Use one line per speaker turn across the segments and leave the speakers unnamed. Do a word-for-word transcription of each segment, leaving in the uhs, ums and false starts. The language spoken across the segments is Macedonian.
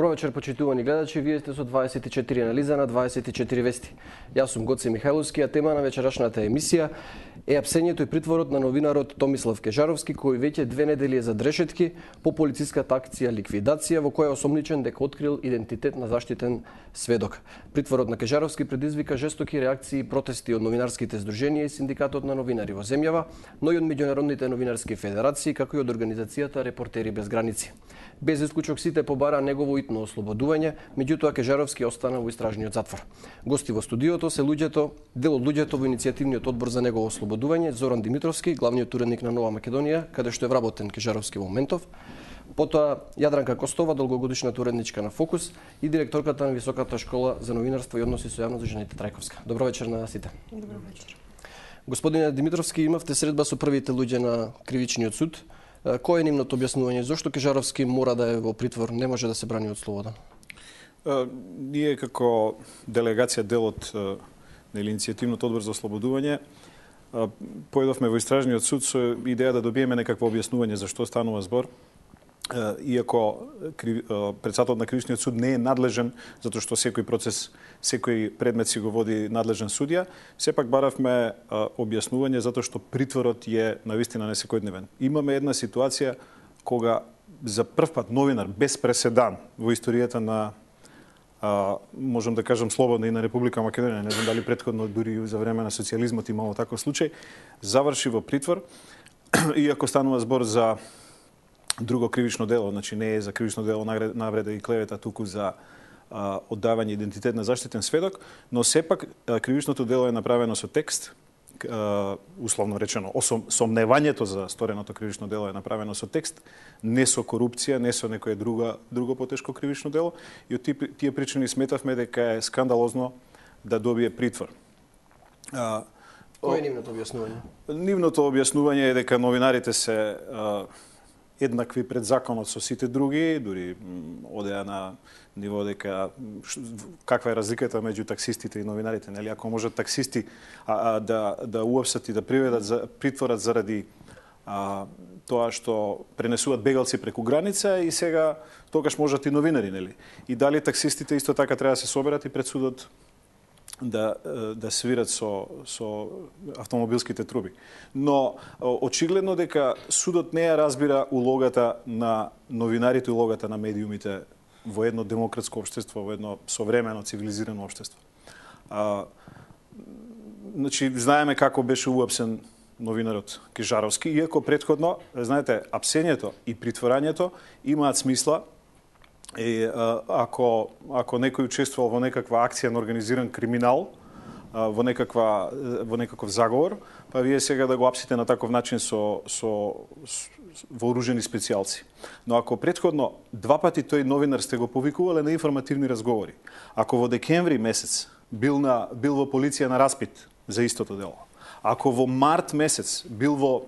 Добро вечер, почитувани гледачи. Вие сте со дваесет и четири анализа на дваесет и четири вести. Јас сум Гоце Михајловски, а тема на вечерашната емисија е апсењето и притворот на новинарот Томислав Кежаровски, кој веќе две недели е за дрешетки по полициската акција ликвидација, во која е осомничен дека открил идентитет на заштитен сведок. Притворот на Кежаровски предизвика жестоки реакции и протести од новинарските здруженија и синдикатот на новинари во земјава, но и од меѓународните новинарски федерации, како и од организацијата Репортери без граници. Без исклучок сите побара негово итно ослободување, меѓутоа Кежаровски остана во истражниот затвор. Гости во студиото се луѓето, дел од луѓето во иницијативниот одбор за негово ослободување, Зоран Димитровски, главниот уредник на Нова Македонија, каде што е вработен Кежаровски во моментов, потоа Јадранка Костова, долгогодишната уредничка на Фокус и директорката на Високата школа за новинарство и односи со јавност Жените Трајковска. Добро вечер на сите.
Добро вечер.
Господине Димитровски, имавте средба со првите луѓе на кривичниот суд. Кој е нивното објаснување? Зошто Кежаровски мора да е во притвор, не може да се брани од слобода?
Ние како делегација дел од иницијативниот одбор за ослободување појдовме во истражниот суд со идеја да добиеме некакво објаснување за што станува збор. Иако председателот на кривичниот суд не е надлежен, затоа што секој процес, секој предмет си го води надлежен судија, сепак баравме објаснување затоа што притворот е навистина несекојдневен. Имаме една ситуација кога за прв пат новинар без преседан во историјата на а, можам да кажам слободна и на Република Македонија, не знам дали претходно дури за време на социјализмот имало таков случај, заврши во притвор, иако станува збор за друго кривично дело, значи не е за кривично дело навреда и клевета, туку за а, оддавање идентитет на заштитен сведок, но сепак а, кривичното дело е направено со текст, а, условно речено, осом, сомневањето за стореното кривично дело е направено со текст, не со корупција, не со некое друго, друго потешко кривично дело, и од тие, тие причини сметавме дека е скандалозно да добие притвор. А,
Кој е нивното објаснување?
Нивното објаснување е дека новинарите се а, еднакви пред законот со сите други, дури одеа на ниво дека каква е разликата меѓу таксистите и новинарите, нели? Ако можат таксисти а, а, да да уапсат и да приведат за притворат заради а, тоа што пренесуваат бегалци преку граница, и сега тогаш можат и новинари, нели? И дали таксистите исто така треба да се соберат и пред судот да да свират со со автомобилските труби. Но очигледно дека судот не ја разбира улогата на новинарите, улогата на медиумите во едно демократско општество, во едно современо цивилизирано општество. А, значи знаеме како беше уапсен новинарот Кежаровски, иако претходно, знаете, апсењето и притворањето имаат смисла. И, ако, ако некој учествувал во некаква акција на организиран криминал, во, некаква, во некаков заговор, па вие сега да го апсите на таков начин со, со, со вооружени специјалци. Но ако претходно два пати тој новинар сте го повикувале на информативни разговори, ако во декември месец бил, на, бил во полиција на распит за истото дело, ако во март месец бил во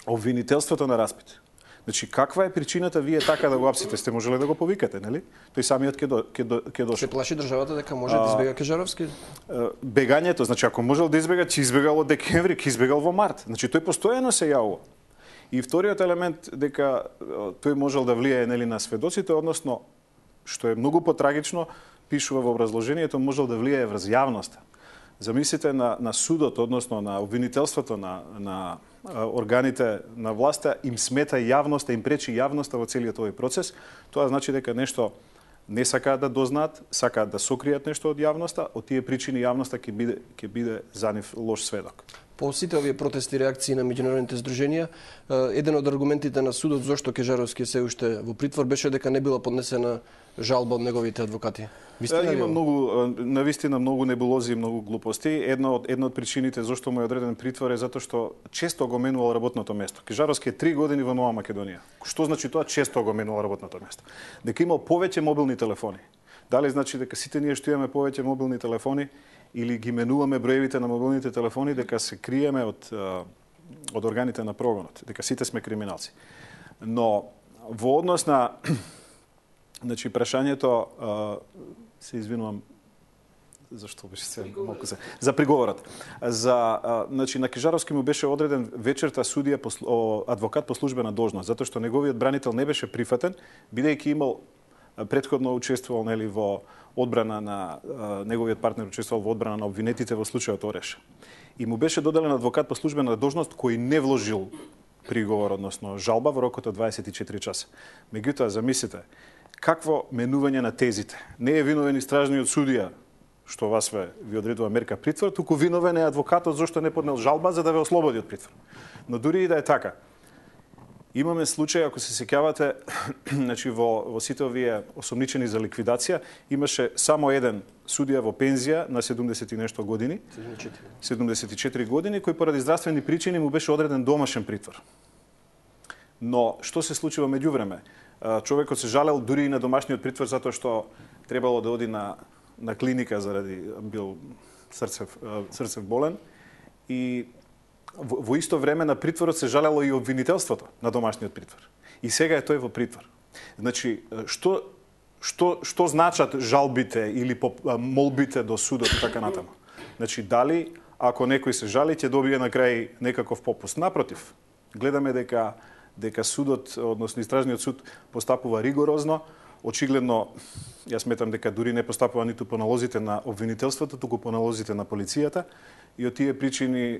обвинителството на распит, значи, каква е причината вие така да го апсите? Сте можеле да го повикате, нели? Тој самиот ќе до, ќе до, ќе дошол.
Се плаши државата дека може да избега Кежаровски?
Бегањето, значи ако можел да избега, ќе избегал од декември, ќе избегал во март. Значи тој постојано се јавува. И вториот елемент дека тој можел да влијае, нели, на сведоците, односно што е многу потрагично, пишува во образложението, можел да влијае врз јавноста. Замислите на, на судот, односно на обвинителството на, на органите на власта, им смета јавноста, им пречи јавноста во целиот овој процес. Тоа значи дека нешто не сакаат да дознаат, сакаат да сокријат нешто од јавноста, од тие причини јавноста ќе биде ќе биде за нив лош сведок.
По сите овие протести и реакции на меѓународните здруженија, еден од аргументите на судот зошто Кежаровски се уште во притвор беше дека не била поднесена жалба од неговите адвокати.
Вистина има многу, навистина многу небулози и многу глупости. Една од една од причините зошто му е одреден притвор е затоа што често го менувал работното место. Кежаровски е три години во Нова Македонија. Што значи тоа често го менувал работното место? Дека имал повеќе мобилни телефони. Дали значи дека сите ние што имаме повеќе мобилни телефони или ги менуваме броевите на мобилните телефони, дека се криеме од од органите на прогонот, дека сите сме криминалци. Но во однос на значи прашањето, се извинувам зашто беше се малку се за приговорот. За значи на Кежаровски му беше одреден вечерта судија адвокат по службена должност, затоа што неговиот бранител не беше прифатен, бидејќи имал претходно учествувал нели во одбрана на неговиот партнер учествувал во одбрана на обвинетите во случајот Ореш. И му беше доделен адвокат по службена должност кој не вложил приговор, односно жалба во рокот од дваесет и четири часа. Меѓутоа, замислите, какво менување на тезите. Не е виновен истражниот судија, што вас ве ви одредува мерка притвор, туку виновен е адвокатот зашто не поднел жалба за да ве ослободи од притвор. Но дури и да е така, имаме случај, ако се сеќавате, значи во, во сите овие осомничени за ликвидација, имаше само еден судија во пензија на седумдесет и нешто години, седумдесет и четири години, кој поради здравствени причини му беше одреден домашен притвор. Но што се случи во меѓувреме? Човекот се жалел дури и на домашниот притвор затоа што требало да оди на на клиника заради бил срцев срцев болен и во, во исто време на притворот се жалело и обвинителството на домашниот притвор. И сега е тој во притвор. Значи, што што што значат жалбите или молбите до судот и така натаму? Значи, дали ако некој се жали ќе добие на крај некаков попуст? Напротив, гледаме дека дека судот, односно истражниот суд постапува ригорозно. Очигледно, јас сметам дека дури не постапува ниту по налозите на обвинителството, туку по налозите на полицијата. И од тие причини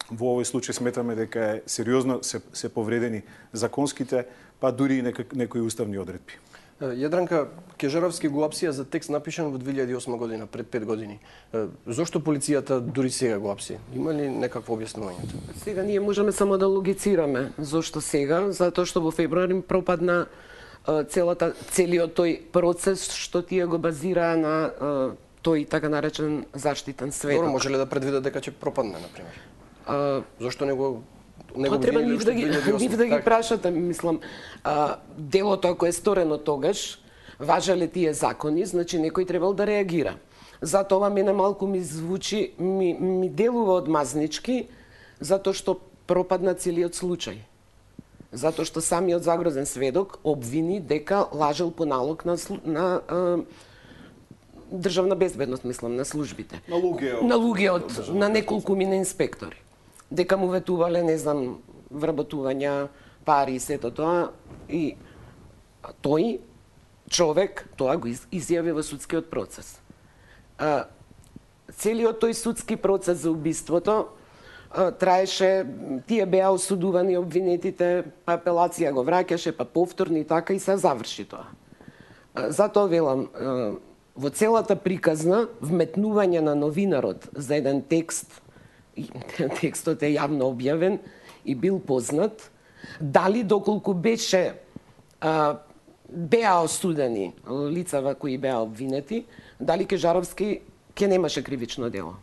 во овој случај сметаме дека е сериозно се, се повредени законските, па дури и некои уставни одредби.
Јадранка Кежаровски го апсија за текст напишан во две илјади и осма година, пред пет години. Зошто полицијата дури сега го апси? Има ли некакво објаснување?
Сега ние можеме само да логицираме зошто сега, затоа што во февруари пропадна целата целиот тој процес што тие го базираа на тој така наречен заштитен сведок.
Добро, може ли да предвидат дека ќе пропадне, на пример? А, Зошто не го не
го треба нив да ги нив да ги прашате, мислам, а, делото ако е сторено тогаш, важеле тие закони, значи некој требал да реагира. Затоа мене малку ми звучи, ми, ми делува одмазнички, затоа што пропадна целиот случај. Затоа што самиот загрозен сведок обвини дека лажел по налог на, на а, државна безбедност, мислам, на службите.
На луѓе од,
на, луѓе од, на неколку мина инспектори. Дека му ветувале, не знам, вработувања, пари и сето тоа. И тој човек тоа го изјави во судскиот процес. А, целиот тој судски процес за убиството траеше, тие беа осудувани обвинетите, па апелација го враќаше, па повторни и така и се заврши тоа. Затоа велам, во целата приказна, вметнување на новинарот за еден текст, текстот е јавно објавен и бил познат, дали доколку беше беа осудени лицава кои беа обвинети, дали Кежаровски ќе немаше кривично дело.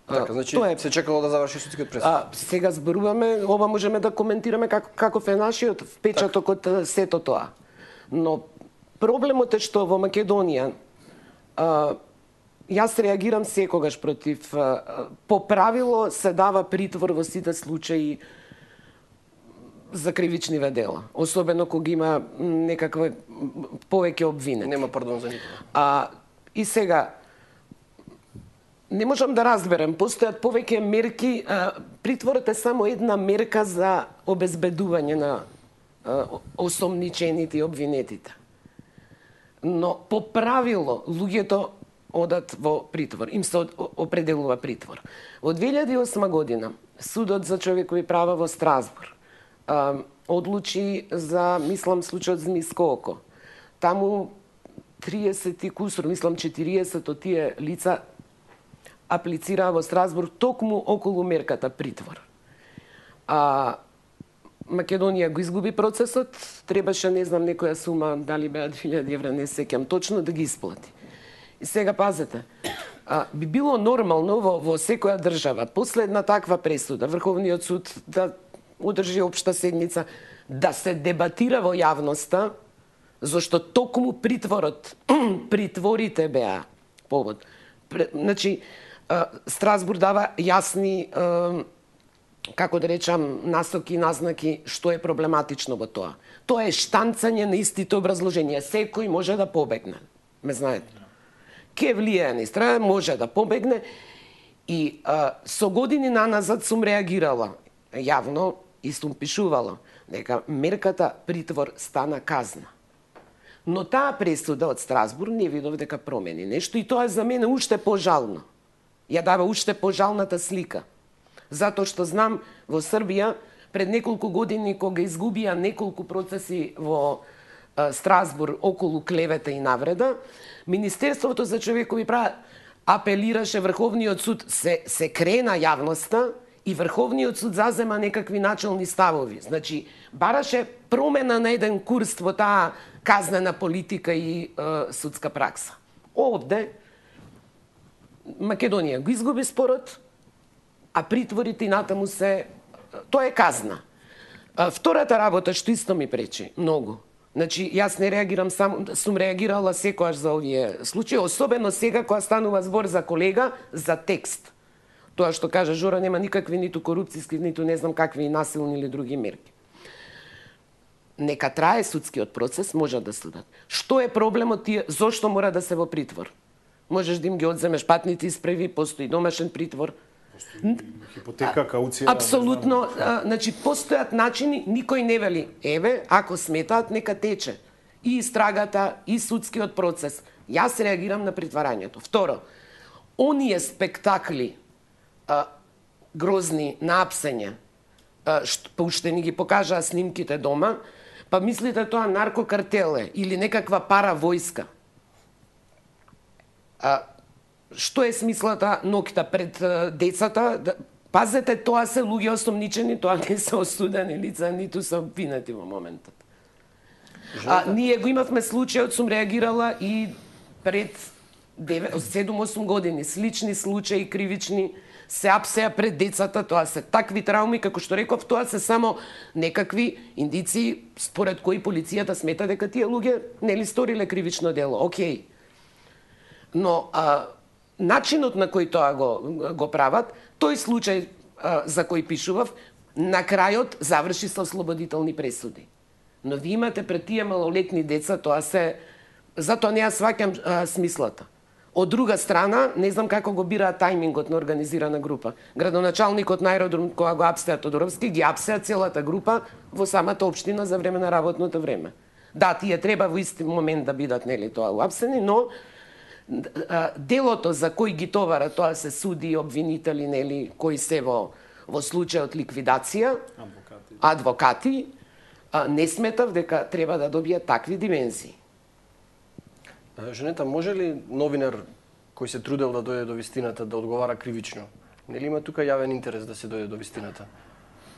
Така, значи е... се чекало да заврши судскиот пресуд.
А, сега зборуваме, ова можеме да коментираме как, каков е нашиот впечаток од сето тоа. Но проблемот е што во Македонија а, јас реагирам секогаш против а, по правило се дава притвор во сите случаи за кривичниве дела, особено кога има некаква повеќе обвинети.
Нема пардон за никого.
А и сега не можам да разберам, постојат повеќе мерки, а, притворот е само една мерка за обезбедување на а, осомничените и обвинетите. Но по правило луѓето одат во притвор, им се определува притвор. Од две илјади и осма година Судот за човекови права во Страсбург а, одлучи за, мислам, случајот Змиско око. Таму триесет и кусур, мислам четириесет од тие лица аплицираа во Страсбург токму околу мерката притвор. А Македонија го изгуби процесот, требаше, не знам, некоја сума, дали беа две илјади евра, не сеќам точно, да ги исплати. И сега пазете, а, би било нормално во, во секоја држава, после една таква пресуда, Врховниот суд да одржи општа седница, да се дебатира во јавноста, зашто токму притворот, притворите беа повод. Значи, Страсбург дава јасни, како да речам, насоки и назнаки што е проблематично во тоа. Тоа е штанцање на истите образложенија. Секој може да побегне. Ме знаете. Ке влијае на истрага, може да побегне. И а, со години наназад сум реагирала јавно и сум пишувала дека мерката притвор стана казна. Но таа пресуда од Страсбург не видов дека промени нешто и тоа е за мене уште пожално. Ја дава уште пожалната слика. Затоа што знам во Србија пред неколку години кога изгубија неколку процеси во а, Страсбург околу клевета и навреда, Министерството за човекови права апелираше Врховниот суд, се, се крена јавноста и Врховниот суд зазема некакви начални ставови. Значи, бараше промена на еден курс во таа казнена политика и е, судска пракса. Овде Македонија го изгуби спорот, а притворите и натаму се... Тоа е казна. А, втората работа, што исто ми пречи, многу. Значи, јас не реагирам само, сум реагирала секојаш за овие случаи, особено сега кога станува збор за колега, за текст. Тоа што кажа Жора, нема никакви ниту корупцијски, ниту не знам какви насилни или други мерки. Нека трае судскиот процес, може да судат. Што е проблемот тие, зошто мора да се во притвор? Можеш да им ги одземеш патните исправи, постои домашен притвор.
Хипотека, кауција...
Апсолутно, а, значи, постојат начини, никој не вели, еве, ако сметаат, нека тече. И истрагата, и судскиот процес. Јас реагирам на притварањето. Второ, оние спектакли, а, грозни, на апсење, а, што, па уште ни ги покажаа снимките дома, па мислите тоа наркокартел е или некаква паравојска. А, што е смислата ноќта пред а, децата? Да, пазете, тоа се луѓе осомничени, тоа не се осудени лица, ниту се обвинети во моментот. А, ние го имавме случајот, сум реагирала и пред седум-осум години, слични случаи кривични, се апсеа пред децата, тоа се такви трауми, како што реков, тоа се само некакви индиции според кои полицијата смета дека тие луѓе нели сториле кривично дело. Океј. Но а, начинот на кој тоа го, го прават, тој случај а, за кој пишував, на крајот заврши со ослободителни пресуди. Но ви имате пред тие малолетни деца, тоа се... Затоа не ја сваќам а, смислата. Од друга страна, не знам како го бираат тајмингот на организирана група. Градоначалникот на аеродром, кога го апсеа Тодоровски, ги апсеа целата група во самата општина за време на работното време. Да, тие треба во исти момент да бидат нели тоа уапсени, но а, делото за кој ги товара, тоа се суди, обвинители, нели, кои се во, во случајот ликвидација, адвокати, адвокати а, не сметав дека треба да добијат такви димензии.
Женета, може ли новинар кој се трудел да дојде до вистината да одговара кривично? Нели има тука јавен интерес да се дојде до вистината?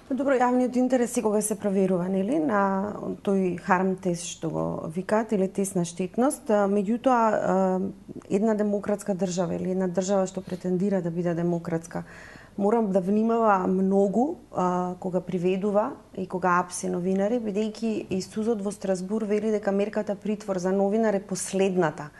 Добро, јавниот интерес секогаш се проверува, нели, на тој харм тест што го викаат или тест на штетност. Меѓутоа, една демократска држава или една држава што претендира да биде демократска, морам да внимава многу а, кога приведува и кога апсе новинари, бидејќи и судот во Страсбург вели дека мерката притвор за новинар е последната.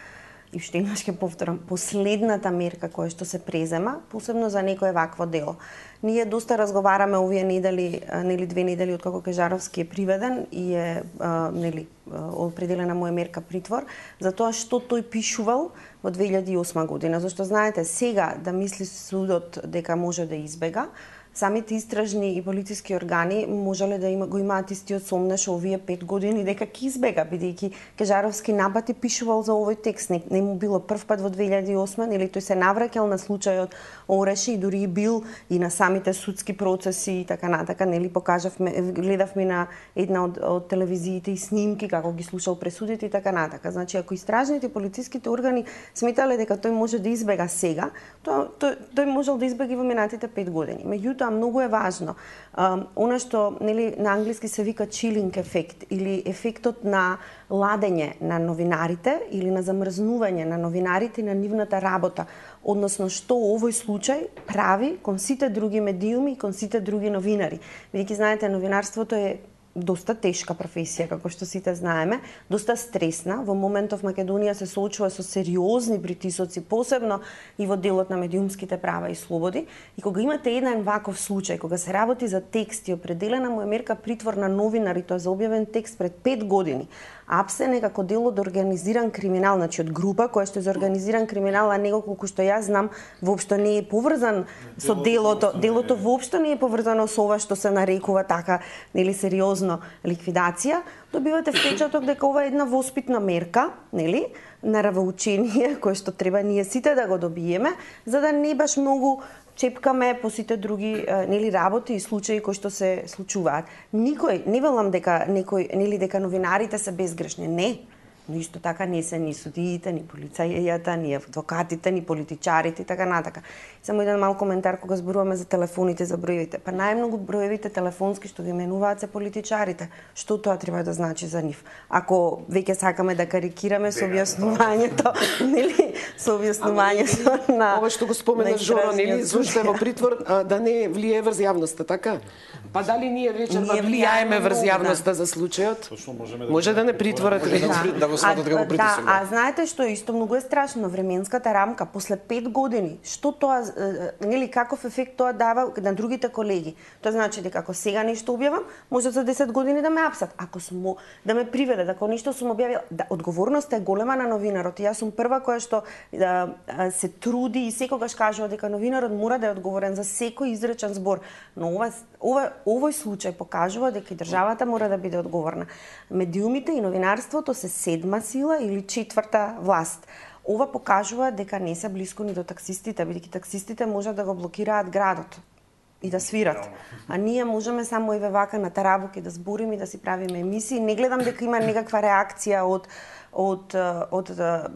И уште еднаш ќе повторам, последната мерка која што се презема, посебно за некое вакво дело. Ние доста разговараме овие недели, нели две недели откако Кежаровски е приведен и е а, нели определена му е мерка притвор, за тоа што тој пишувал во две илјади и осма година. Зашто знаете, сега да мисли судот дека може да избега, самите истражни и полициски органи можеле да има, го имаат истиот сомнеш овие пет години дека ќе избега, бидејќи Кежаровски напати пишувал за овој текст. Не, не му било прв пат во две илјади и осма, нели тој се навраќал на случајот Ореши и дури и бил и на самите судски процеси и така натака, нели покажавме, гледавме на една од, од телевизиите и снимки како ги слушал пресудите и така натака. Значи, ако истражните полициските органи сметале дека тој може да избега сега, тоа тој, тој можел да избега и во минатите пет години. Меѓутоа, многу е важно. А, она што нели на англиски се вика chilling ефект или ефектот на ладење на новинарите или на замрзнување на новинарите и на нивната работа, односно што овој случај прави кон сите други медиуми и кон сите други новинари. Бидејќи знаете, новинарството е доста тешка професија, како што сите знаеме, доста стресна. Во моментов Македонија се соочува со сериозни притисоци, посебно и во делот на медиумските права и слободи. И кога имате еден ваков случај, кога се работи за текст и определена му е мерка притвор на новинар, и тоа за објавен текст пред пет години, АПС е некако дел од организиран криминал, значи од група која што е за организиран криминал, а него колку што јас знам воопшто не е поврзан со делото, делото воопшто не е поврзано со ова што се нарекува така, нели сериозно ликвидација. Добивате впечаток дека ова е една воспитна мерка, нели, наравоучение кое што треба ние сите да го добиеме, за да не баш многу чепкаме по сите други нели работи и случаи кои што се случуваат. Никој не велам дека некој нели дека новинарите се безгрешни, не. Но исто така не се ни судиите, ни полицајата, ни адвокатите, ни политичарите и така натака. Само еден мал коментар кога зборуваме за телефоните, за броевите. Па најмногу броевите телефонски што ги менуваат се политичарите. Што тоа треба да значи за нив? Ако веќе сакаме да карикираме со објаснувањето, нели, со објаснувањето на
ова што го спомена Жоро, нели, зошто е во притвор а, да не влијае врз јавноста, така? Па дали ние вечерва влијаеме врз јавноста за случајот?
Точно можеме
да Може да не притворат
да го сматат како притисок.
Да, а знаете што исто многу е страшно, временската рамка после пет години, што тоа нели каков ефект тоа дава на другите колеги? Тоа значи дека ако сега нешто објавам, може за десет години да ме апсат. Ако сум да ме приведат, ако нешто сум објавила, да, одговорноста е голема на новинарот. И јас сум прва која што да, се труди и секогаш кажува дека новинарот мора да е одговорен за секој изречен збор. Но ова ова овој случај покажува дека и државата мора да биде одговорна. Медиумите и новинарството се седма сила или четврта власт. Ова покажува дека не се блиску ни до таксистите, бидејќи таксистите можат да го блокираат градот и да свират. А ние можеме само еве вака на тарабуки да збориме и да си правиме емисии. Не гледам дека има некаква реакција од од од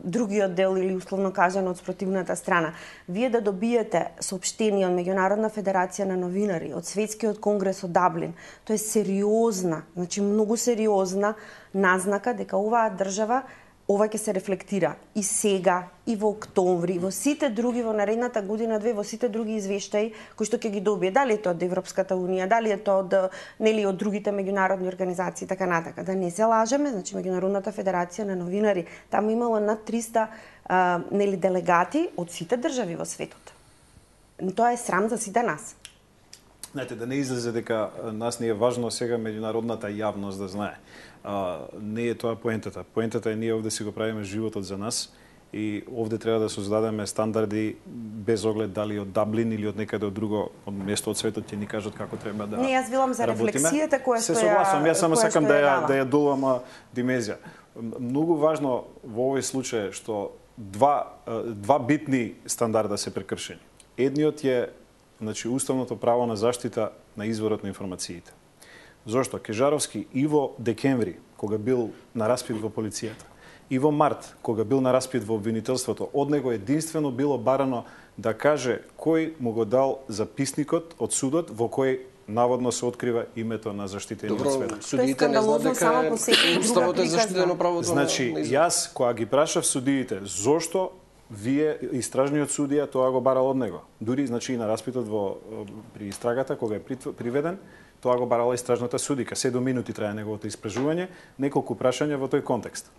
другиот дел или условно кажано од спротивната страна. Вие да добиете соопштение од Меѓународна федерација на новинари, од Светскиот конгрес од Даблин, тоа е сериозна, значи многу сериозна назнака дека оваа држава ова ќе се рефлектира и сега, и во октомври, во сите други, во наредната година, две, во сите други извештаи кои што ќе ги добие. Дали е тоа од Европската унија, дали е тоа од нели од другите меѓународни организации, така натака. Да не се лажеме, значи Меѓународната федерација на новинари, таму имало над триста а, нели делегати од сите држави во светот. Тоа е срам за сите нас.
Знаете, да не излезе дека нас не е важно сега меѓународната јавност да знае. А, не е тоа поентата. Поентата е ние овде си го правиме животот за нас и овде треба да создадеме стандарди без оглед дали од Даблин или од некаде од друго од место од светот ќе ни кажат како треба да.
Не, јас велам за рефлексијата која што ја.
Се согласувам, јас само сакам да ја да ја долама димензија. Многу важно во овој случај што два два битни стандарда се прекршени. Едниот е значи уставното право на заштита на изворот на информациите. Зошто? Кежаровски и во декември, кога бил на распит во полицијата, и во март, кога бил на распит во обвинителството, од него единствено било барано да каже кој му го дал записникот од судот во кој наводно се открива името на заштитениот сведок.
Добро, судиите не знаат дека уставот е заштитено правото.
Значи, јас кога ги прашав судиите зошто вие истражниот судија тоа го барал од него. Дури значи и на распитот во при истрагата кога е приведен, тоа го барала истражната судика. седум минути трае неговото испражување, неколку прашања во тој контекст.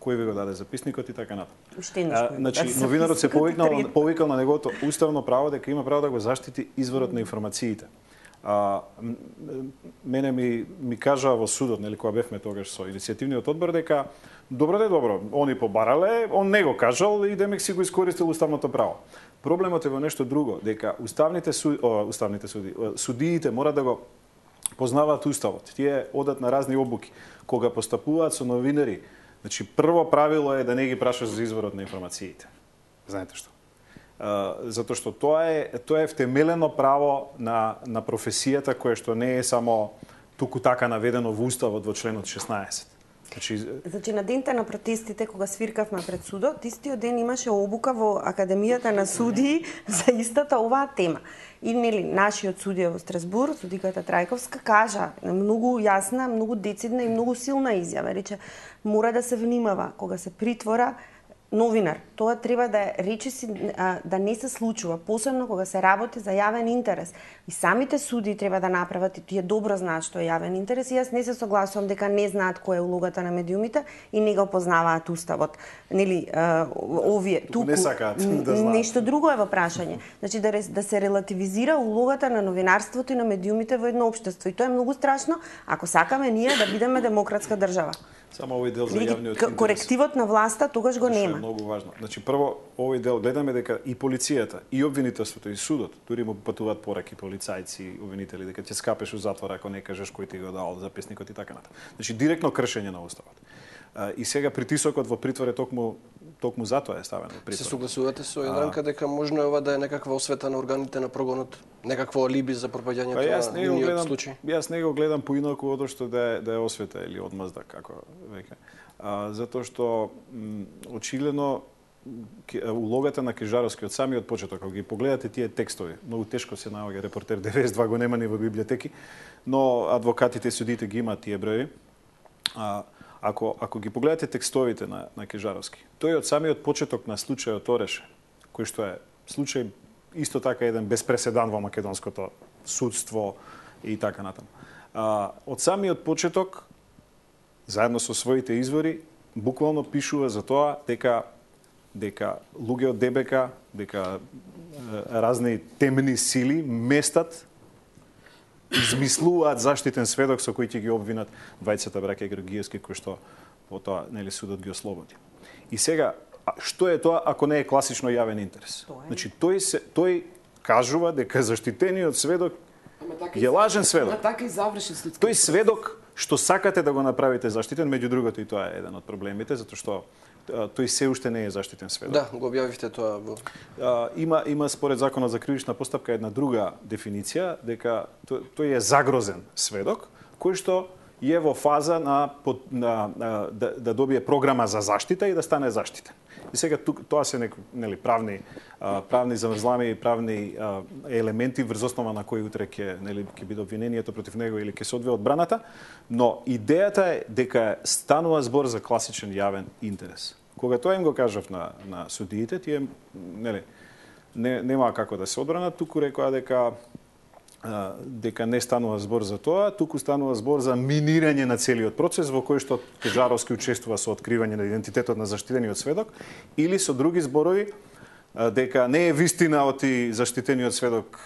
Кој ви го даде записникот и така натаму. Значи новинарот се повикнал повикал на неговото уставно право дека има право да го заштити изворот на информациите. А, мене ми ми кажаа во судот, нели кога бевме тогаш со иницијативниот одбор дека добро де добро, они побарале, он не го кажал и демек си го искористил уставното право. Проблемот е во нешто друго, дека уставните суди, о, уставните суди, судиите мора да го познаваат уставот. Тие одат на разни обуки. Кога постапуваат со новинари, значи прво правило е да не ги прашаш за изворот на информациите. Знаете што? Uh, затоа што тоа е тоа е втемелено право на на професијата кое што не е само туку така наведено во уставот во членот шеснаесет. Значи
Значи на денте на протестите кога свиркавме пред судот, истиот ден имаше обука во Академијата на судии за истата оваа тема. И нели нашиот судија во Страсбур, судиката Трајковска, кажа многу јасна, многу децидна и многу силна изјава, рече мора да се внимава кога се притвора новинар. Тоа треба да речиси да не се случува, посебно кога се работи за јавен интерес. И самите суди треба да направат, и тие добро знаат што е јавен интерес, и јас не се согласувам дека не знаат која е улогата на медиумите и не го познаваат уставот. Нели, овие
туку не сакаат да знаат.
Нешто друго е во прашање. Значи да да се релативизира улогата на новинарството и на медиумите во едно општество. И тоа е многу страшно ако сакаме ние да бидеме демократска држава.
Само овој дел за јавниот интерес.
Корективот на власта тогаш го нема.
Е многу важно. Значи прво овој дел гледаме дека и полицијата, и обвинителството, и судот, дури му патуваат пораки полицајци, обвинители дека ќе скапеш у затвор ако не кажеш кој ти го дал записникот и така натаму. Значи директно кршење на уставот. И сега притисокот во притвор е токму токму затоа е ставен во притвор.
Се согласувате со Јадранка дека можно е ова да е некаква освета на органите на прогонот, некакво алиби за пропаѓањето на нивниот случај?
Јас не го гледам поинаку од што да е да е освета или одмазда како веќе. А, затоа што м, очигледно улогата на Кежаровски од самиот почеток, кога ги погледате тие текстови, многу тешко се наоѓа репортер деветдесет и два го нема ни во библиотеки, но адвокатите и судите ги имаат тие броеви. А, Ако, ако ги погледате текстовите на, на Кежаровски, тој од самиот почеток на случајот Ореше, кој што е случај исто така еден без преседан во македонското судство и така натаму. А, од самиот почеток, заедно со своите извори, буквално пишува за тоа дека дека луѓе од ДБК, дека е, разни темни сили местат, измислуваат заштитен сведок со кој ќе ги обвинат двајцата браќа Георгиевски, кои што потоа нели судот ги ослободи. И сега, што е тоа ако не е класично јавен интерес? Значи тој се тој кажува дека заштитениот сведок е лажен сведок.
Така и заврши судски.
Тој сведок што сакате да го направите заштитен, меѓу другото и тоа е еден од проблемите, затоа што тој се уште не е заштитен сведок.
Да, го објавивте тоа во...
А, има има според законот за кривична постапка една друга дефиниција дека тој, тој е загрозен сведок кој што е во фаза на, на, на да, да добие програма за заштита и да стане заштитен. И сега тук тоа се неку, нели правни а, правни заврзлами и правни а, елементи врз основа на кои утре ќе нели ќе биде обвинението против него или ќе се одвие одбраната, но идејата е дека станува збор за класичен јавен интерес. Кога тоа им го кажав на на судиите, тие нели не нема како да се одбранат, туку рекоа дека а, дека не станува збор за тоа, туку станува збор за минирање на целиот процес во кој што Кежаровски учествува со откривање на идентитетот на заштитениот сведок или со други зборови а, дека не е вистина од и заштитениот сведок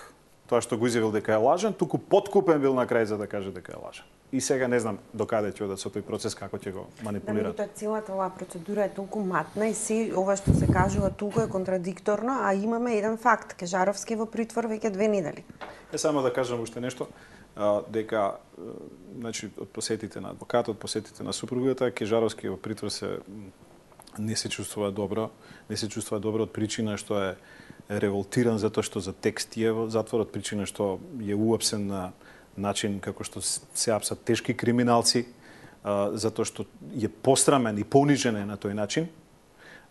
тоа што го изјавил дека е лажен, туку подкупен бил на крај за да каже дека е лажен. И сега не знам докаде ќе одат со тој процес, како ќе го манипулираат.
Да, целата оваа процедура е толку матна и се ова што се кажува толку е контрадикторно, а имаме еден факт, Кежаровски во притвор веќе две недели.
Е само да кажам уште нешто, а, дека значи од посетите на адвокатот, посетите на супругата, Кежаровски во притвор се не се чувствува добро, не се чувствува добро од причина што е револтиран затоа што за текст е во затворот, причина што е уапсен на начин како што се апсат тешки криминалци, а, затоа што е пострамен и понижен на тој начин.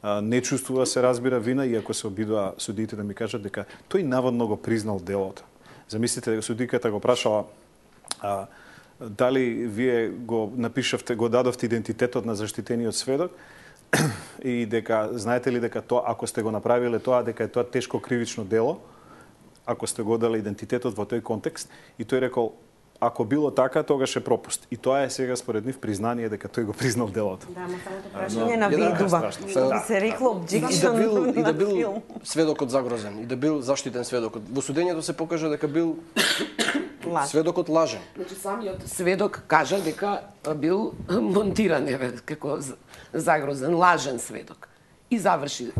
А, не чувствува се разбира вина, иако се обидува судиите да ми кажат дека тој наводно го признал делото. Замислите дека судиката го прашала а, дали вие го напишавте, го дадовте идентитетот на заштитениот сведок и дека знаете ли дека тоа ако сте го направиле тоа дека е тоа тешко кривично дело, ако сте го дали идентитетот во тој контекст, и тој рекол ако било така, тогаш е пропуст. И тоа е сега според нив признание дека тој го признал делото.
Да, ма самото прашање на видува. Што би се рекло objection
и да бил, и да бил
филм.
сведокот загрозен, и да бил заштитен сведокот. Во судењето се покажа дека бил сведокот лажен.
Значи самиот сведок кажа дека бил монтиран, еве, како загрозен, лажен сведок. И заврши,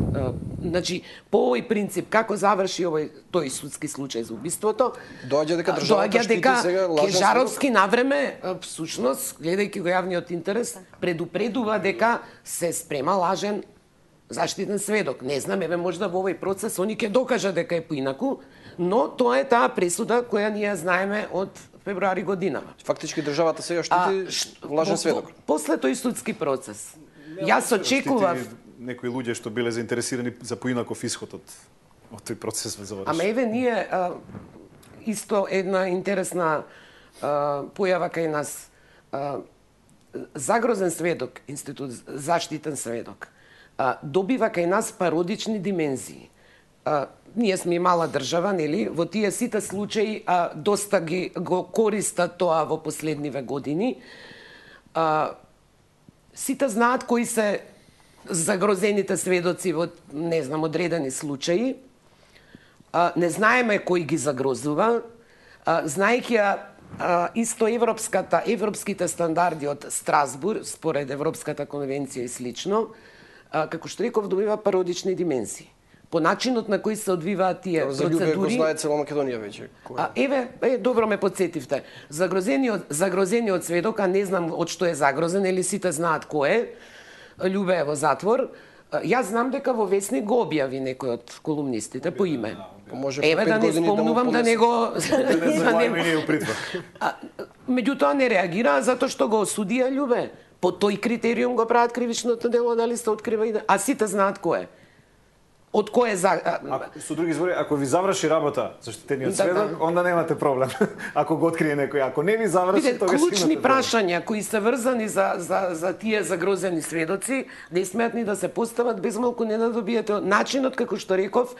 значи по овој принцип како заврши овој тој судски случај за убиството,
доаѓа дека државата штити сега лажен
Кежаровски навреме всушност гледајќи го јавниот интерес предупредува дека се спрема лажен заштитен сведок. Не знам, еве можда во овој процес они ќе докажа дека е поинаку, но тоа е таа пресуда која ние знаеме од февруари годинава.
Фактички државата сега штити а, лажен сведок.
После тој судски процес. Јас очекував
некои луѓе што биле заинтересирани за поинаков исход од од тој процес за заврши.
Ама еве ние а, исто една интересна а, појава кај нас, а, загрозен сведок, институт заштитен сведок, а, добива кај нас пародични димензии. А, ние сме мала држава, нели? Во тие сите случаи а, доста ги го користат тоа во последниве години. А, сите знаат кои се загрозените сведоци во, не знам, одредени случаи. А, не знаеме кој ги загрозува. А, знаејќи ја а, исто европската, европските стандарди од Страсбург, според Европската конвенција и слично, а, како што реков, добива пародични дименсии. По начинот на кој се одвиваат тие
За Љубе го
процедури.
знае цела Македонија веќе.
А, еве, е, добро ме подсетивте. Загрозениот, загрозениот сведок, а не знам од што е загрозен, или сите знаат кој е, Љубе е во затвор. Јас знам дека во Весник го објави некој од колумнистите по име.
Може
Еве да не спомнувам да не го...
Да не у притвор.
Меѓутоа не реагира затоа што го осудија Љубе. По тој критериум го прават кривичното дело, дали се открива и... А сите знаат кој е. Од кој е за...
А, со други збори, ако ви заврши работа заштитениот
Да,
сведок,
да.
онда немате проблем. Ако го открие некој, ако не ви заврши,
Видете,
тогаш
клучни
имате проблем.
прашања кои се врзани за, за, за тие загрозени сведоци, не смеат ни да се постават, без малку не да добиете начинот, како што реков,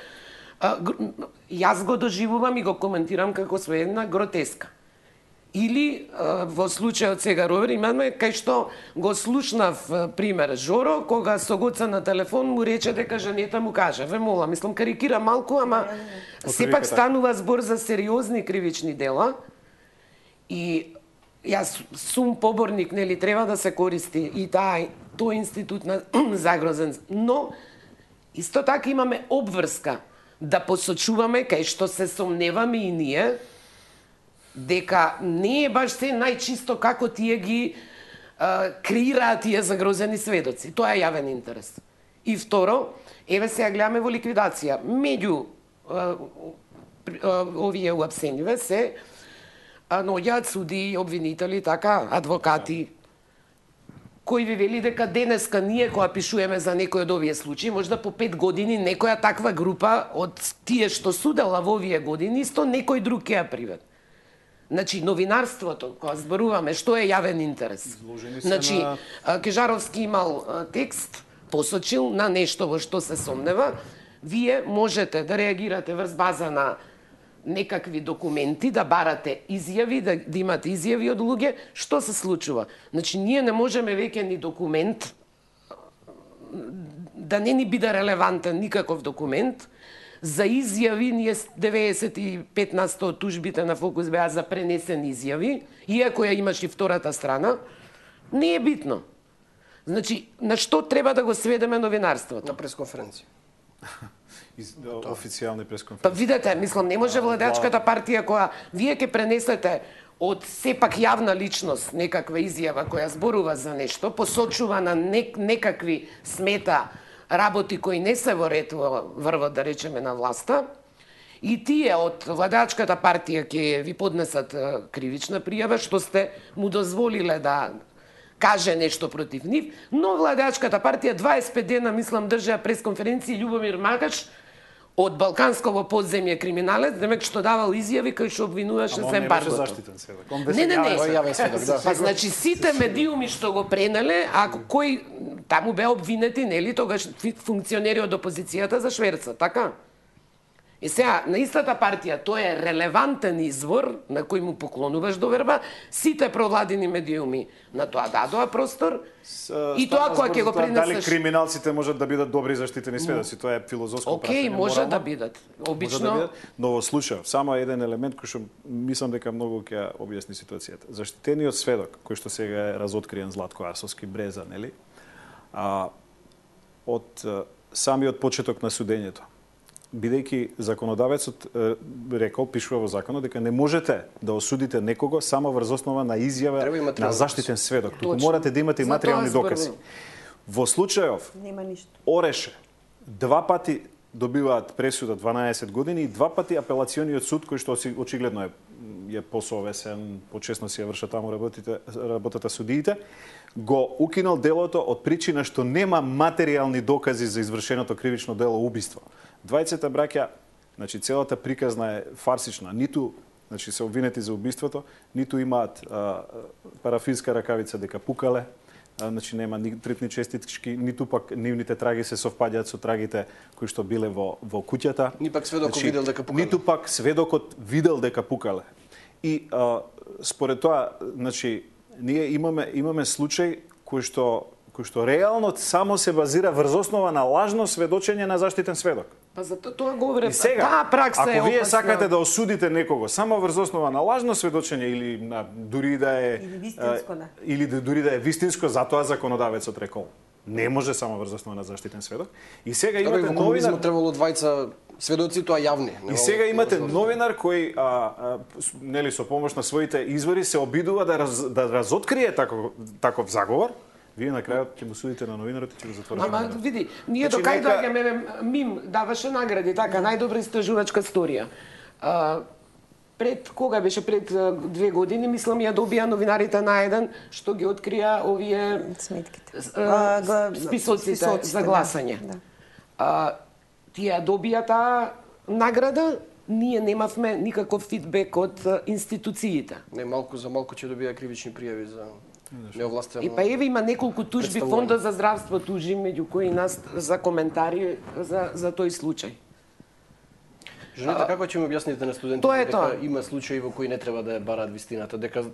а, гр... јас го доживувам и го коментирам како со една гротеска. Или а, во случајот сега Ровер, имаме кај што го слушнав а, пример Жоро, кога со Гоца на телефон му рече дека женета му каже, ве мола, мислам карикира малку, ама сепак станува збор за сериозни кривични дела. И јас сум поборник, нели, треба да се користи и таа тој институт на загрозен, но исто така имаме обврска да посочуваме кај што се сомневаме и ние дека не е баш се најчисто како тие ги а, креираат тие загрозени сведоци. Тоа е јавен интерес. И второ, еве сега гледаме во ликвидација. Меѓу а, а, овие уапсениве се а, наоѓаат суди, обвинители, така, адвокати, кој ви вели дека денеска ние кога пишуваме за некој од овие случаи, можда по пет години некоја таква група од тие што судела во овие години, исто некој друг ќе ја привед. Значи, новинарството, кога зборуваме, што е јавен интерес? Значи,
на...
Кежаровски имал текст, посочил на нешто во што се сомнева, вие можете да реагирате врз база на некакви документи, да барате изјави, да, да имате изјави од луѓе, што се случува? Значи, ние не можеме веќе ни документ, да не ни биде релевантен никаков документ, за изјави, ние деветдесет и пет на сто од тужбите на Фокус беа за пренесени изјави, иако ја имаш и втората страна, не е битно. Значи, на што треба да го сведеме новинарството?
На пресконференција.
Официјални пресконференции.
Па видете, мислам, не може владеачката партија која вие ќе пренесете од сепак јавна личност некаква изјава која зборува за нешто, посочува на нек, некакви смета работи кои не се во ред во врвот, да речеме, на власта, и тие од владеачката партија ќе ви поднесат кривична пријава, што сте му дозволиле да каже нешто против нив, но владеачката партија дваесет и пет дена, мислам, држа пресконференција Љубомир Макач од балкансково подземје криминалец, демек што давал изјави кои што обвинуваше за ембаргото.
Ама он не беше заштитен сведок. Он
Не, не, не.
Јавен сведок, да.
Па значи сите медиуми што го пренеле, ако кој таму беа обвинети, нели, тогаш функционери од опозицијата за шверца, така? И сега, на истата партија, тој е релевантен извор на кој му поклонуваш доверба, сите провладени медиуми на тоа дадоа простор, и тоа кога ќе го
Дали
пренесеш...
криминалците можат да бидат добри заштитени сведоци, тоа е филозофско
Океј,
прашање.
може
морално.
да бидат. Обично...
Може да бидат, но во случај, само еден елемент кој што мислам дека многу ќе ја објасни ситуацијата. Заштитениот сведок, кој што сега е разоткриен Златко Арсовски Бреза, нели? А, од самиот почеток на судењето, бидејќи законодавецот е, рекол, пишува во законот, дека не можете да осудите некого само врз основа на изјава на заштитен сведок. Туку морате да имате и материјални докази. Во случајов,
Нема ништо.
Ореше, два пати добиваат пресуда дванаесет години и два пати апелациониот суд, кој што очигледно е, е посовесен, почесно си ја вршат таму работите, работата судиите, го укинал делото од причина што нема материјални докази за извршеното кривично дело убиство. Двајцата браќа, значи целата приказна е фарсична, ниту значи се обвинети за убиството, ниту имаат а, парафинска ракавица дека пукале, а, значи нема ни трипни честички, ниту пак нивните траги се совпаѓаат со трагите кои што биле во во куќата.
Ни пак сведокот значи, видел дека пукале.
Ниту пак сведокот видел дека пукале. И а, според тоа, значи ние имаме имаме случај кој што кој што реално само се базира врз основа на лажно сведочење на заштитен сведок.
Па за тоа говорев,
сега,
таа пракса
ако
е
вие
опасна.
сакате да осудите некого само врз основа на лажно сведочење или на дури да е
Или вистинско, да.
или да дури да е вистинско, затоа законодавецот рекол не може само врз основа на заштитен сведок. И сега
Како и
имате
во комунизмот
новинар,
требало двајца сведоци, тоа јавни.
и сега имате новинар кој а, а, с- нели со помош на своите извори се обидува да раз, да разоткрие таков таков заговор. Вие на крајот ќе го судите на новинарот и ќе го затворите.
Ама
новинарот.
види, ние
Значи,
до кај
нека-
доаѓаме, Мим даваше награди, така, најдобра истражувачка сторија. А, пред, кога беше пред а, две години, мислам, ја добија новинарите на еден, што ги открија овие
Сметките.
а,
А, га-
списоците,
списоците,
за
да,
гласање.
да.
А, тие добија таа награда, ние немавме никаков фидбек од а, институциите.
Не, малку за малку ќе добија кривични пријави за неовластено.
И па еве има неколку тужби,
Представување.
Фондот за здравство тужи, меѓу кои нас за коментари за, за тој случај.
Жените, како ќе ми објасните на студентите
Тоа е
дека
тоа.
има случаи во кои не треба да ја бараат вистината, дека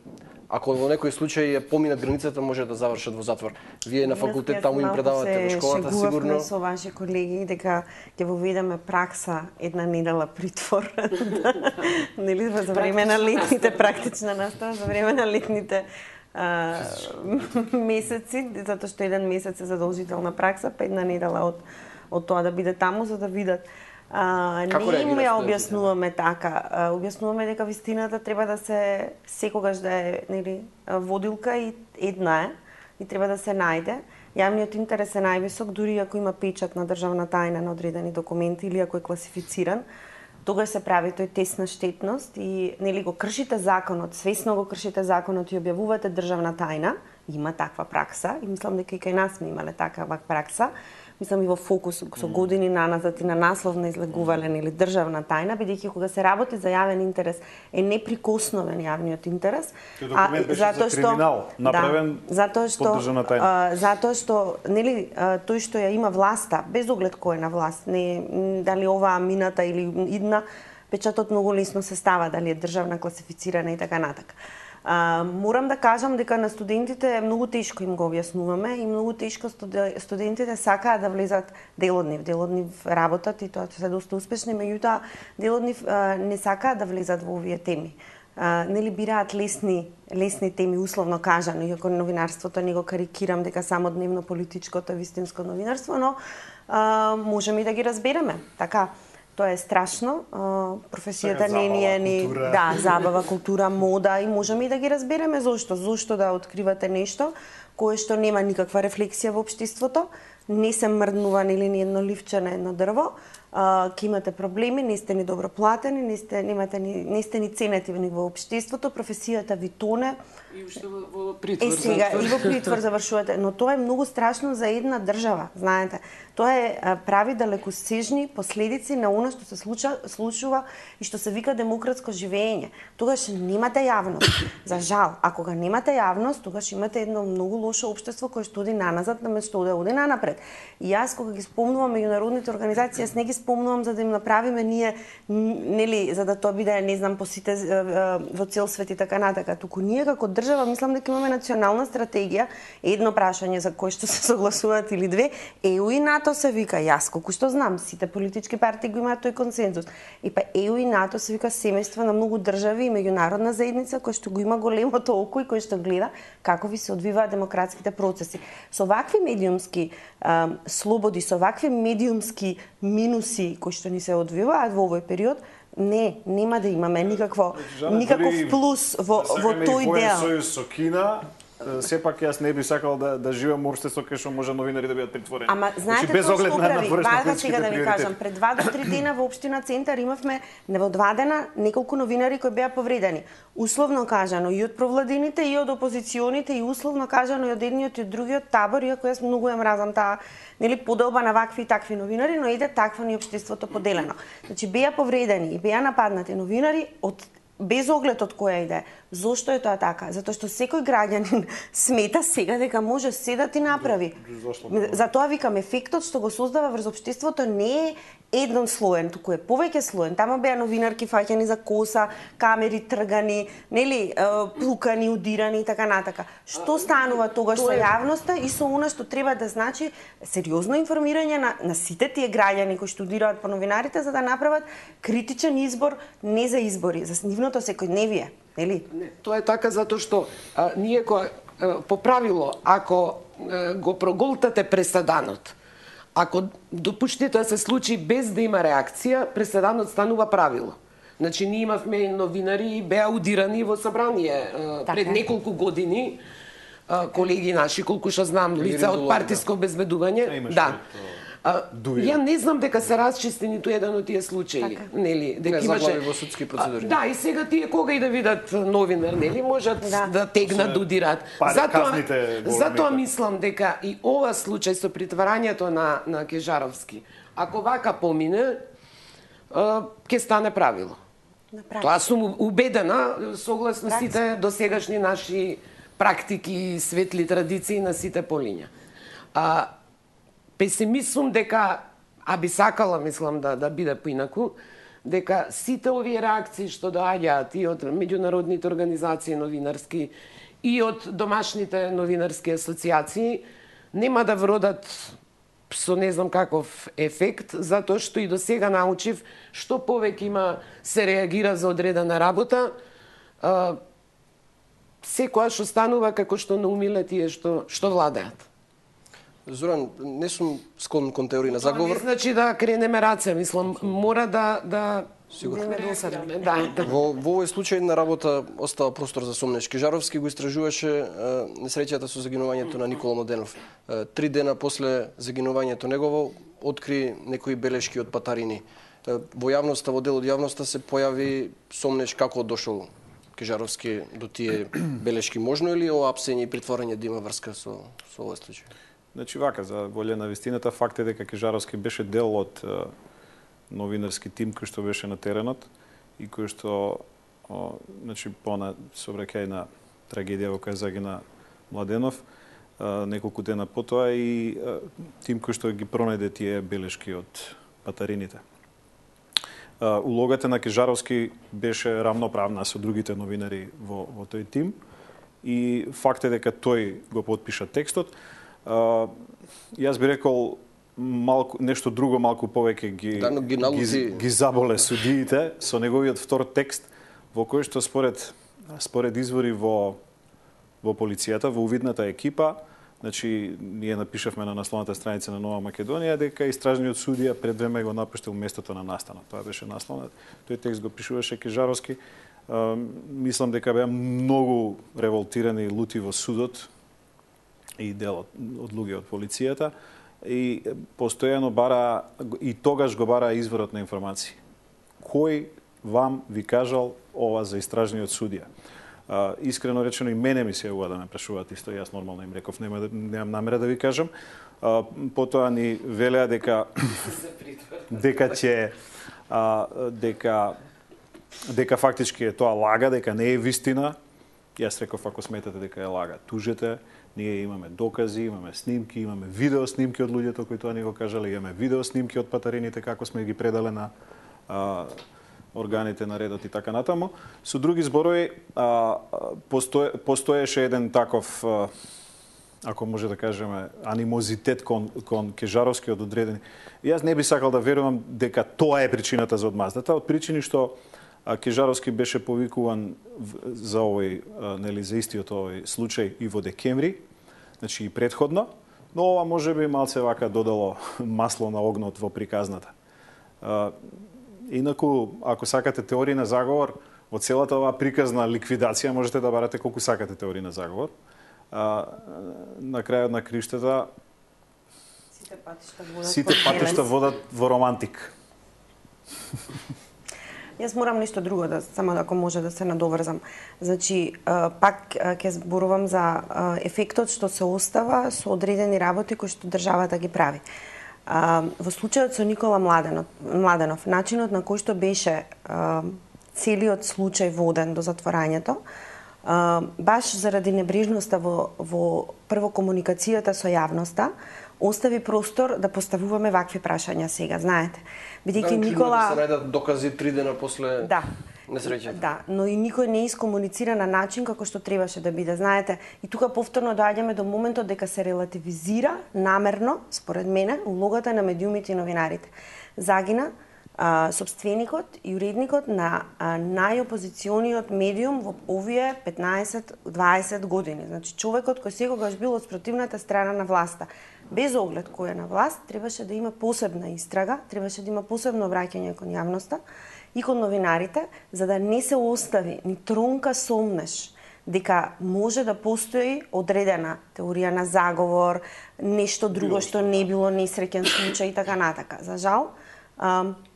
ако во некој случај ја поминат границата може да завршат во затвор. Вие на факултет таму им предавате во школата сигурно.
Се со ваши колеги дека ќе воведеме пракса една недела притвор. Нели за време на летните практична настава, за време на летните а, месеци, затоа што еден месец е задолжителна пракса, па една недела од од тоа да биде таму за да видат. А,
Како
не им
реагираат
ја
студентите?
објаснуваме така. А, објаснуваме дека вистината треба да се секогаш да е, нели, водилка и една е и треба да се најде. Јавниот интерес е највисок, дури ако има печат на државна тајна на одредени документи или ако е класифициран, тогаш се прави тој тест на штетност и нели го кршите законот, свесно го кршите законот и објавувате државна тајна, има таква пракса и мислам дека и кај нас сме имале такава пракса. Мислам и во фокус со години наназад и на наслов на излегувален или државна тајна, бидејќи кога се работи за јавен интерес е неприкосновен јавниот интерес.
Тој документ беше за криминал, направен
да, затоа што,
под државна тајна.
а, затоа што нели а, тој што ја има власта, без оглед кој е на власт, не м, дали оваа мината или идна, печатот многу лесно се става, дали е државна класифицирана и така натака. А, морам да кажам дека на студентите многу тешко им го објаснуваме и многу тешко студе- студентите сакаат да влезат дел од нив, дел од нив работат и тоа се доста успешни, меѓутоа дел од нив а, не сакаат да влезат во овие теми. А, нели бираат лесни лесни теми условно кажано, иако новинарството не го карикирам дека само дневно политичкото е вистинско новинарство, но а, можеме и да ги разбереме. Така, тоа е страшно. А, професијата
Сега
не ни е
забава,
ни
култура.
да, забава, култура, мода и можеме и да ги разбереме зошто. Зошто да откривате нешто кое што нема никаква рефлексија во општеството, не се мрднува или ни едно ливче на едно дрво, а, ќе имате проблеми, не сте ни добро платени, не сте, немате ни, не сте ни ценети во општеството, професијата ви тоне.
И уште во, во притвор.
Е, сега,
затвор.
и во притвор завршувате, но тоа е многу страшно за една држава, знаете. Тоа е а, прави далекосежни последици на она што се случа, случува и што се вика демократско живење. Тогаш немате јавност. За жал, ако го немате јавност, тогаш имате едно многу лошо општество кое што оди наназад, наместо да оди нанапред. И јас кога ги спомнувам меѓународните организации, јас не ги спомнувам за да им направиме ние, нели, за да тоа биде, не знам, по сите во цел свет и така натака, туку ние како држава мислам дека имаме национална стратегија, едно прашање за кој што се согласуваат или две, е у и НАТО се вика, јас колку што знам, сите политички партии го имаат тој консензус. И па е у и НАТО се вика семејство на многу држави и меѓународна заедница кој што го има големото око и кој што гледа како ви се одвиваат демократските процеси. Со вакви медиумски а, слободи, со вакви медиумски минуси кои што ни се одвиваат во овој период, не, нема да имаме никакво
Жана,
никаков
дури
плюс во
да
во
сакаме и
тој
воен
дел.
сојуз со Кина, е, сепак јас не би сакал да да живеам во општество кај што може новинари да бидат притворени.
Ама знаете
без
тоа
оглед
што
на
прави?
надворешно
Вака
политичките
сега да ви
приоритети.
кажам, пред два до три дена во општина Центар имавме не во два дена неколку новинари кои беа повредени. Условно кажано и од провладините и од опозиционите и условно кажано и од едниот и од другиот табор, иако јас многу ја мразам таа нели поделба на вакви и такви новинари, но иде таква ни општеството поделено. Значи беа повредени и беа нападнати новинари од без оглед од која иде. Зошто е тоа така? Затоа што секој граѓанин смета сега дека може се да ти направи. Затоа викам, ефектот што го создава врз општеството не е еднослоен, туку е повеќе слоен. Тама беа новинарки фаќани за коса, камери тргани, нели, плукани, удирани и така натака. Што станува тогаш со јавноста и со она што треба да значи сериозно информирање на, на сите тие граѓани кои штудираат по новинарите за да направат критичен избор, не за избори, за нивното секојдневие, нели?
Не, тоа е така затоа што а, ние која по правило, ако а, го проголтате преседанот, ако допуштите да се случи без да има реакција, преседанот станува правило. Значи, ние имавме новинари беа удирани во собрание така. Пред неколку години, колеги наши, колку што знам, лица од партиско обезбедување. Да. А, ја не знам дека се расчисти ниту еден од тие случаи, така. Нели, дека
не, имаше во судски процедури.
Да, и сега тие кога и да видат новинар, нели, можат да, да тегнат, да удират.
Затоа
затоа мислам дека и ова случај со притварањето на на Кежаровски, ако вака помине, ќе стане правило. Тоа сум убедена согласно сите досегашни наши практики и светли традиции на сите полиња. А песимисум дека, а би сакала, мислам, да, да биде поинаку, дека сите овие реакции што доаѓаат и од меѓународните организации новинарски и од домашните новинарски асоциации нема да вродат со не знам каков ефект, затоа што и до сега научив што повеќе има се реагира за одредена работа, а, секоја што станува како што наумиле тие што, што владеат.
Зоран, не сум склон кон теорија на заговор.
Тоа не значи да кренеме раце, мислам, мора да да
сигурно
да, да.
Во во овој случај на работа остава простор за сомнеш. Кежаровски го истражуваше несреќата со загинувањето на Никола Младенов. Три дена после загинувањето негово откри некои белешки од патарини. Во јавноста, во дел од јавноста се појави сомнеш како дошол Кежаровски до тие белешки. Можно ли ова апсење и притворање да има врска со со овој случај?
Значи вака, за волја на вистината, факт е дека Кежаровски беше дел од е, новинарски тим кој што беше на теренот и кој што о, значи по на собраќај на трагедија во која загина Младенов, е, неколку дена потоа и е, тим кој што ги пронајде тие белешки од патарините. Е, улогата на Кежаровски беше рамноправна со другите новинари во, во тој тим и факт е дека тој го потпиша текстот. Uh, јас би рекол малку нешто друго малку повеќе ги
да, ги,
ги, ги заболе судиите со неговиот втор текст во кој што според според извори во во полицијата, во увидната екипа, значи ние напишавме на насловната страница на Нова Македонија дека истражниот судија пред време го напуштил местото на настанот. Тоа беше насловот. Тој текст го пишуваше Кежаровски. Uh, мислам дека беа многу револтирани и лути во судот и дел од, од луѓе од полицијата и постојано бара и тогаш го бара изворот на информации. Кој вам ви кажал ова за истражниот судија? А, искрено речено и мене ми се јавува да ме прашуваат исто, јас нормално им реков нема да, немам намера да ви кажам. А, потоа ни велеа дека дека ќе а, дека дека фактички е тоа лага, дека не е вистина. Јас реков ако сметате дека е лага, тужете. Ние имаме докази, имаме снимки, имаме видео снимки од луѓето кои тоа ни го кажале, имаме видео снимки од патарините како сме ги предале на а, органите на редот и така натаму. Со други зборови, а, постое, постоеше еден таков, а, ако може да кажеме, анимозитет кон, кон Кежаровски од одредени. И јас не би сакал да верувам дека тоа е причината за одмаздата, од причини што Кежаровски беше повикуван за овој, нели, за истиот овој случај и во декември, значи и претходно, но ова може би малце вака додало масло на огнот во приказната. Инаку, ако сакате теорија на заговор, во целата оваа приказна ликвидација можете да барате колку сакате теорија на заговор. На крајот на криштата
сите патишта водат,
сите патишта водат во романтик.
Јас морам нешто друго да само ако може да се надоврзам. Значи, пак ќе зборувам за ефектот што се остава со одредени работи кои што државата ги прави. Во случајот со Никола Младенов, Младенов начинот на кој што беше целиот случај воден до затворањето, баш заради небрежноста во, во прво комуникацијата со јавноста, остави простор да поставуваме вакви прашања сега, знаете.
Бидејќи да, Никола се најдат докази три дена после
да.
несреќата.
Да, но и никој не искомуницира на начин како што требаше да биде, знаете. И тука повторно доаѓаме до моментот дека се релативизира намерно, според мене, улогата на медиумите и новинарите. Загина а, собственикот и уредникот на а, најопозициониот медиум во овие петнаесет дваесет години. Значи човекот кој секогаш бил од спротивната страна на власта. Без оглед кој е на власт, требаше да има посебна истрага, требаше да има посебно обраќање кон јавноста и кон новинарите, за да не се остави ни тронка сомнеш дека може да постои одредена теорија на заговор, нешто друго што не било несреќен случај и така натака. За жал,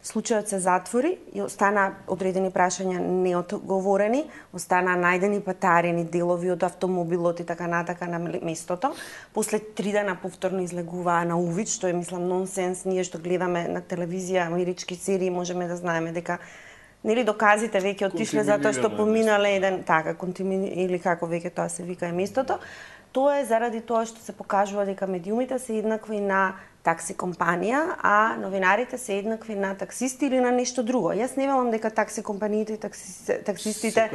случајот се затвори и остана одредени прашања неодговорени, остана најдени патарени делови од автомобилот и така натака на местото. После три дена повторно излегуваа на увид, што е, мислам, нонсенс. Ние што гледаме на телевизија амерички серии можеме да знаеме дека нели доказите веќе отишле затоа што поминале еден така контимини или како веќе тоа се вика е местото. Тоа е заради тоа што се покажува дека медиумите се еднакви на такси компанија, а новинарите се еднакви на таксисти или на нешто друго. Јас не велам дека такси компаниите и такси, таксистите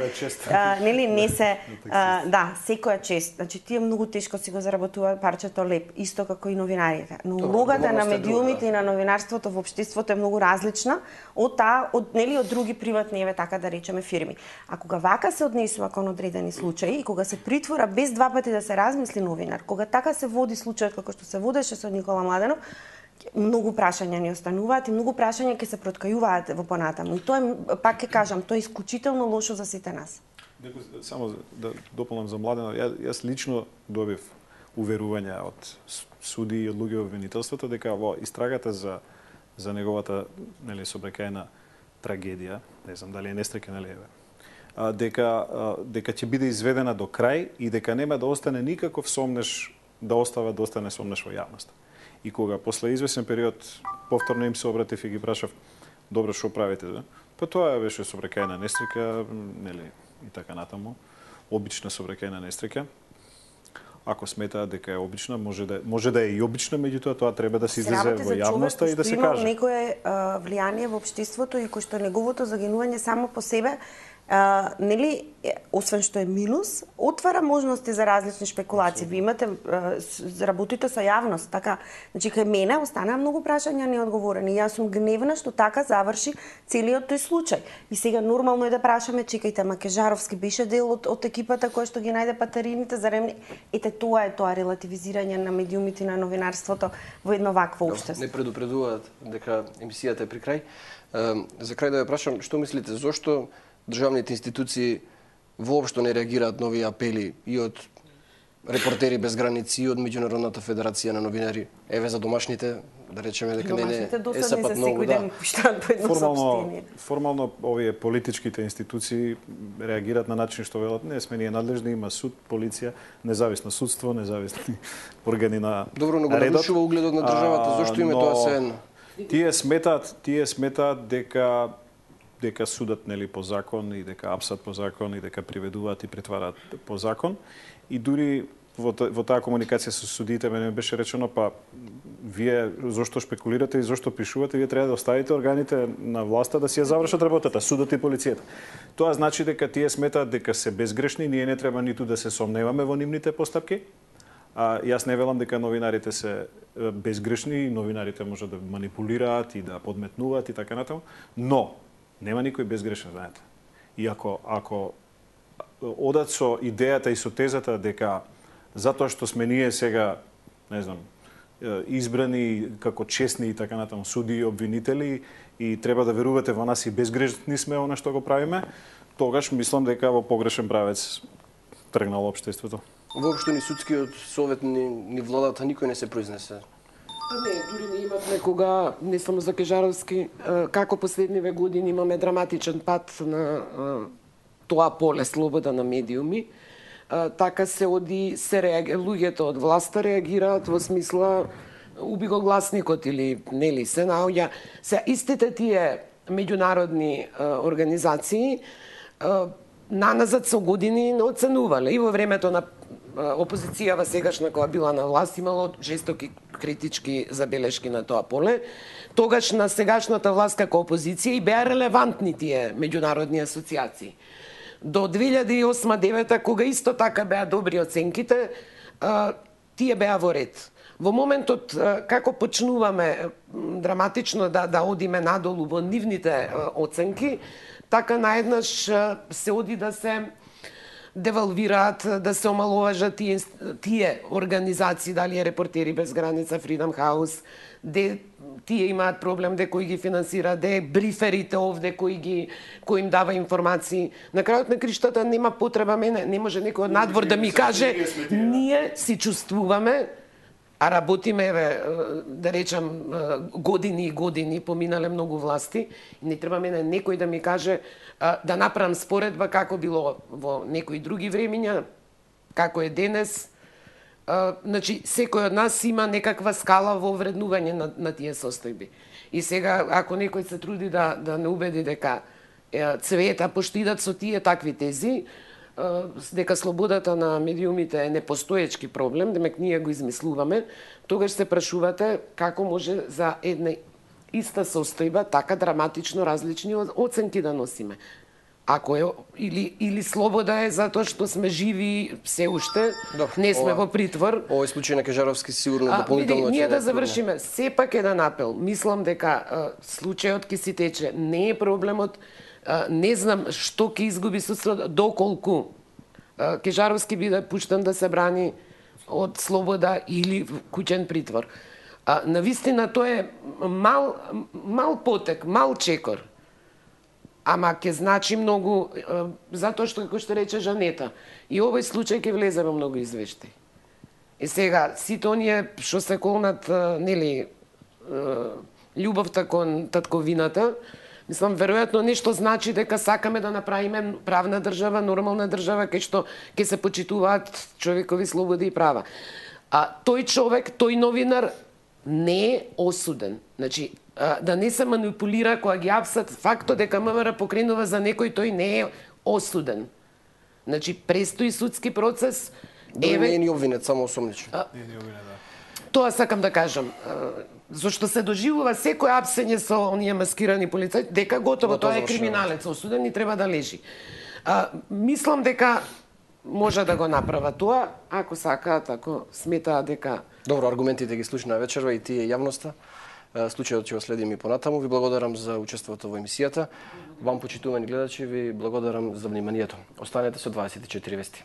а, нели не се а, да, секоја чест. Значи тие многу тешко си го заработуваат парчето леп, исто како и новинарите. Но улогата на медиумите и на новинарството во општеството е многу различна од таа од нели од други приватни, еве така да речеме, фирми. А кога вака се однесува кон одредени случаи и кога се притвора без два пати да се размисли новинар, кога така се води случајот како што се водеше со Никола Младенов, многу прашања ни остануваат и многу прашања ќе се проткајуваат во понатаму. И тоа е, пак ќе кажам, тоа е исклучително лошо за сите нас.
Само да дополнам за Младенов, ја, јас лично добив уверување од суди и од луѓе во обвинителството дека во истрагата за за неговата нели собрекајна трагедија, не знам дали е несреќен или еве, а, дека а, дека ќе биде изведена до крај и дека нема да остане никаков сомнеш да остава да остане сомнеш во јавноста. И кога после извесен период повторно им се обратив и ги прашав, добро, што правите? Да? Па тоа беше собрекајна несреќа, нели, и така натаму. Обична собрекајна несреќа. Ако сметаат дека е обична, може да може да е и обична, меѓутоа тоа треба да се излезе во јавноста и да се каже.
Некое а, влијание во општеството и кој што неговото загинување само по себе Uh, нели, освен што е минус, отвара можности за различни шпекулации. Ви имате, uh, работите со јавност, така, значи кај мене останаа многу прашања неодговорени. Јас сум гневна што така заврши целиот тој случај. И сега нормално е да прашаме, чекајте, ама Кежаровски беше дел од, од екипата која што ги најде патарините за ремни. Ете, тоа е тоа релативизирање на медиумите и на новинарството во едно вакво општество.
Не предупредуваат дека емисијата е при крај. Uh, за крај да ве прашам, што мислите, зошто државните институции воопшто не реагираат на овие апели и од Репортери без граници и од Меѓународната федерација на новинари? Еве за домашните, да речеме дека не не е сапат многу, да.
Формално, формално овие политичките институции реагираат на начин што велат, не сме ние надлежни, има суд, полиција, независно судство, независни органи на
Добро, но го нарушува угледот на државата, зошто име тоа се едно?
Тие сметаат, тие сметаат дека дека судат нели по закон и дека апсат по закон и дека приведуваат и претвараат по закон. И дури во, во таа комуникација со судиите мене беше речено, па вие зошто шпекулирате и зошто пишувате, вие треба да оставите органите на власта да си ја завршат работата, судот и полицијата. Тоа значи дека тие сметаат дека се безгрешни, ние не треба ниту да се сомневаме во нивните постапки. А, јас не велам дека новинарите се безгрешни, новинарите може да манипулираат и да подметнуваат и така натаму, но нема никој безгрешен, знаете. И ако, ако одат со идејата и со тезата дека затоа што сме ние сега, не знам, избрани како честни и така натаму суди и обвинители и треба да верувате во нас и безгрешни сме она што го правиме, тогаш мислам дека во погрешен правец тргнало општеството.
Воопшто ни судскиот совет ни, ни владата никој не се произнесе.
Не, дури не имавме кога, не само за Кежаровски, како последниве години имаме драматичен пат на тоа поле слобода на медиуми. Така се оди, се реаги, луѓето од власта реагираат во смисла уби го гласникот или нели се наоѓа. Се истите тие меѓународни организации наназад со години не оценувале и во времето на опозицијава сегашна која била на власт имало жестоки критички забелешки на тоа поле. Тогаш на сегашната власт како опозиција и беа релевантни тие меѓународни асоциации. До две илјади и осма девета, кога исто така беа добри оценките, тие беа во ред. Во моментот како почнуваме драматично да да одиме надолу во нивните оценки, така наеднаш се оди да се девалвираат, да се омаловажат тие, тие организации, дали е Репортери без граница, Freedom House, де тие имаат проблем, де кои ги финансира, де бриферите овде кои ги кои им дава информации. На крајот на криштата нема потреба мене, не може некој од надвор да ми каже ние си чувствуваме, а работиме, еве, да речам, години и години, поминале многу власти, и не треба мене некој да ми каже да направам споредба како било во некои други времиња, како е денес. Значи, секој од нас има некаква скала во вреднување на, на тие состојби. И сега, ако некој се труди да, да не убеди дека е, цвета, пошто идат со тие такви тези, дека слободата на медиумите е непостоечки проблем, демек ние го измислуваме, тогаш се прашувате како може за една иста состојба така драматично различни оценки да носиме. Ако е или или слобода е затоа што сме живи се уште, Добре, не сме ова, во притвор.
Овој случај на Кежаровски сигурно дополнително.
Ние да завршиме, сепак еден апел. Мислам дека а, случајот ќе си тече, не е проблемот. А, не знам што ќе изгуби судството, доколку а, Кежаровски биде пуштен да се брани од слобода или куќен притвор. А, навистина тоа е мал мал потек, мал чекор. Ама ќе значи многу, затоа што, како што рече Жанета, и овој случај ќе влезе во многу извештаи. И сега, сите оние што се колнат, нели, љубовта кон татковината, мислам, веројатно нешто значи дека сакаме да направиме правна држава, нормална држава, кај што ќе се почитуваат човекови слободи и права. А тој човек, тој новинар, не е осуден. Значи, да не се манипулира кога ги апсат фактот дека МВР покренува за некој, тој не е осуден. Значи, престои судски процес.
Еве не е ни обвинет, само осомничен.
Не е ни обвинет, да.
Тоа сакам да кажам. Зошто се доживува секој апсење со оние маскирани полицаи, дека готово, тоа е криминалец, осуден и треба да лежи. А, мислам дека може да го направа тоа, ако сакаат, ако сметаат дека...
Добро, аргументите ги слушна вечерва и тие јавноста. Случајот ќе го следим и понатаму. Ви благодарам за учеството во емисијата. Вам, почитувани гледачи, ви благодарам за вниманието. Останете со дваесет и четири вести.